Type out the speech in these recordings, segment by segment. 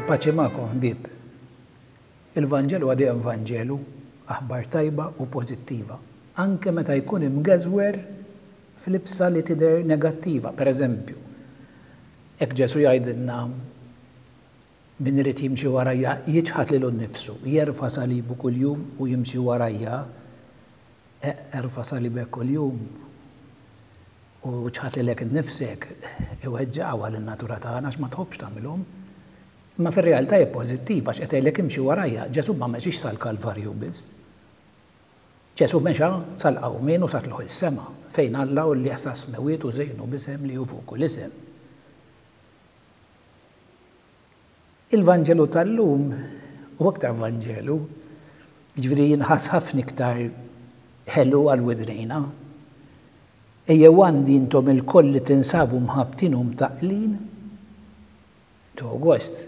Il-paċi magħkom ħbieb. Il-Vanġelu huwa dejjem Vanġelu, aħbar tajba u pożittiva, anke meta jkun imgeżwer f'libsa li tidher negattiva. Per eżempju, hekk Ġesù jgħidilna min irid jimxi warajja jiċħad lilu nnifsu, jerfa' salibu kuljum u jimxi warajja. Erfa' salibek kuljum u ċħad lilek innifsek iweġġgħu lin-natura tagħna għax ma tħobbx tagħmilhom. Imma fir-realtà hi pożittiv għax qed jgħidlek imxi warajja. Ġesù ma mexiex sal-Kalvarju biss. Ġesù mexa sal-qawmien u sa tlugħ is-sema, fejn Alla għollieh sas-smewwiet u żejnu b'isem li hu fuq kull isem. Il-Vanġelu tal-lum hu aktar Vanġelu, jiġifieri jinħass ħafna iktar ħelu għal widnejna. Ejjew għandi intom ilkoll li tinsabu mħabbtin u mtaqqlin. Tieħu gost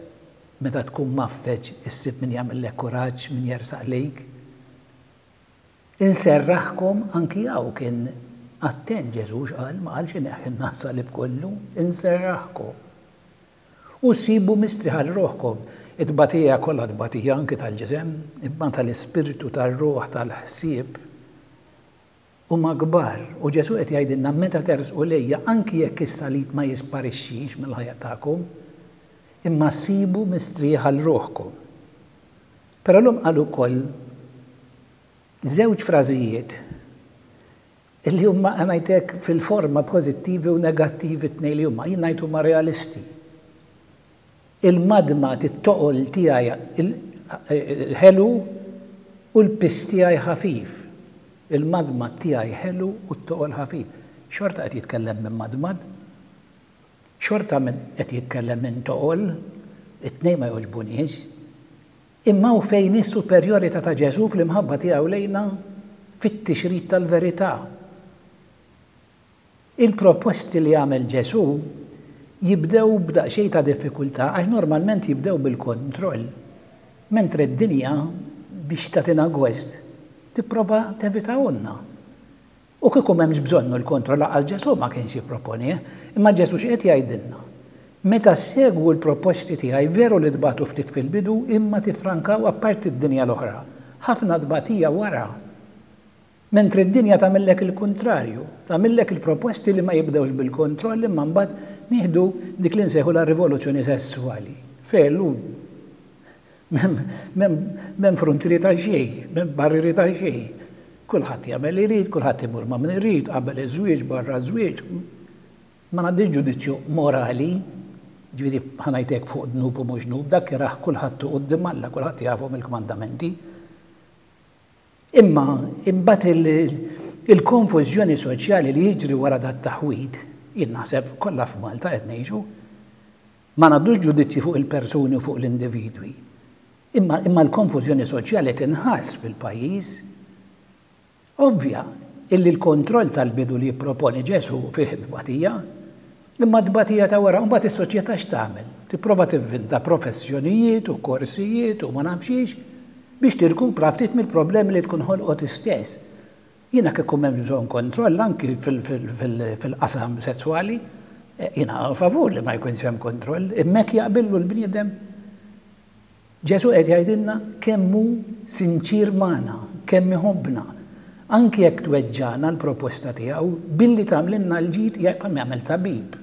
meta tkun mgħaffeġ issib min jagħmillek kuraġġ, min jersaq lejk. Inserraħkom anki hawn kien attent Ġesù x'qal, ma qalx ineħħilna s-salib kollu, inserraħkom. U ssibu mistrieħ għal ruħkom. It-tbatija kollha tbatija anki tal-ġisem, imma tal-ispirtu, tar-ruħ, tal-ħsieb, huma kbar. U Ġesù qed jgħidilna meta tersqu lejja, anki jekk is-salib ma jisparixxix mill-ħajja tagħkom, imma ssibu mistrieħ għal ruħkom. Però llum qal ukoll żewġ frażijiet Illi huma, ngħid hekk, fil-forma pożittivi u negattivi t-tnejn li huma. Jien ngħid huma realisti. Il-madmad, it-toqol tiegħi ħelu u l-piż tiegħi ħafif. Il-madmad tiegħi ħelu u t-toqol ħafif. Xorta qed jitkellem minn madmad. Xorta qed jitkellem minn toqol. It-tnejn ma jogħġbuniex. Imma hawn fejn hi s-superjorità ta' Ġesù fl-imħabba tiegħu lejna fit-tixrid tal-verità. Il-proposti li għamel Ġesù jibdew b'daqsxejn ta' diffikultà għax normalment jibdew bil-kontroll, mentre d-dinja biex tagħtina gost tipprova tevitahulna. U kieku m'hemmx bżonnu l-kontroll lanqas Ġesù ma kienx jipproponih. Imma Ġesù x'qed jgħidilna? Meta ssegwu l-proposti tiegħi veru li tbatu ftit fil-bidu imma tiffrankaw apparti d-dinja l-oħra, ħafna tbatija wara. Mentri d-dinja tagħmillek il-kuntrarju, tagħmillek il-proposti li ma jibdewx bil-kontroll imma mbagħad nieħdu dik li nsejħulha rivoluzzjoni sesswali. Fejn llum M'hemm fruntieri ta' xejn, m'hemm barrieri ta' xejn. Kulħadd jagħmel li jrid, kulħadd imur ma' min irid, qabel iż-żwieġ, barra ż-żwieġ. Ma ngħaddix ġudizzju morali, ġifieri ħa ngħid hekk fuq dnub u mhux dnub, dak jarah kulħadd u quddiem Alla, kulħadd jafhom il-kmandamenti. Imma imbagħad il-konfużjoni soċjali li jiġri wara dat-taħwid, jien naħseb kollha f'Malta qed ngħixu, Ma ngħaddux ġudizzji fuq il-persuni u fuq l-individwi. Imma imma l-konfużjoni soċjali tinħass fil-pajjiż. Ovvja illi l-kontroll tal-bidu li jipproponi Ġesù fih it-tbatija, imma t-tbatija ta' wara, mbagħad is-soċjetà x'tagħmel? Tipprova tivvinta professjonijiet u korsijiet u ma nafx xiex biex tirkupra ftit mill-problemi li tkun ħolqot hi stess. Jiena kieku m'hemmx bżonn kontroll anki fil-qasam sesswali, jiena favur li ma jkunx hemm kontroll, imma hekk jaqbillu l-bniedem. Ġesù qed jgħidilna kemm hu sinċier magħna, kemm iħobbna. Anki jekk tweġġagħna l-proposta tiegħu, billi tagħmlilna l-ġid bħalma jagħmel tabib.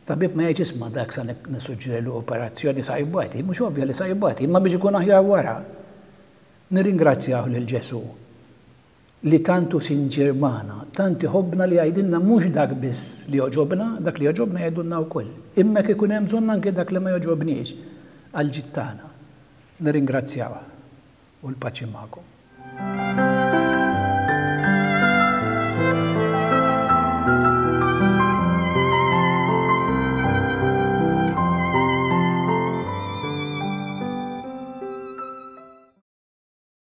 Tabib ma jgħidx isma' dak sa nissuġġerilu operazzjoni sa jbati, mhux ovvja li sa jbati, imma biex ikun aħjar wara. Nirringrazzjah lil Ġesù li tant hu sinċier magħna, tant iħobbna li jgħidilna mhux dak biss li jogħġobna, dak li jogħġobna jgħidulna wkoll, imma jekk ikun hemm bżonn anke dak li ma jogħġobniex għall-ġid tagħna. Nirringrazzjawh u l-paċi magħkom.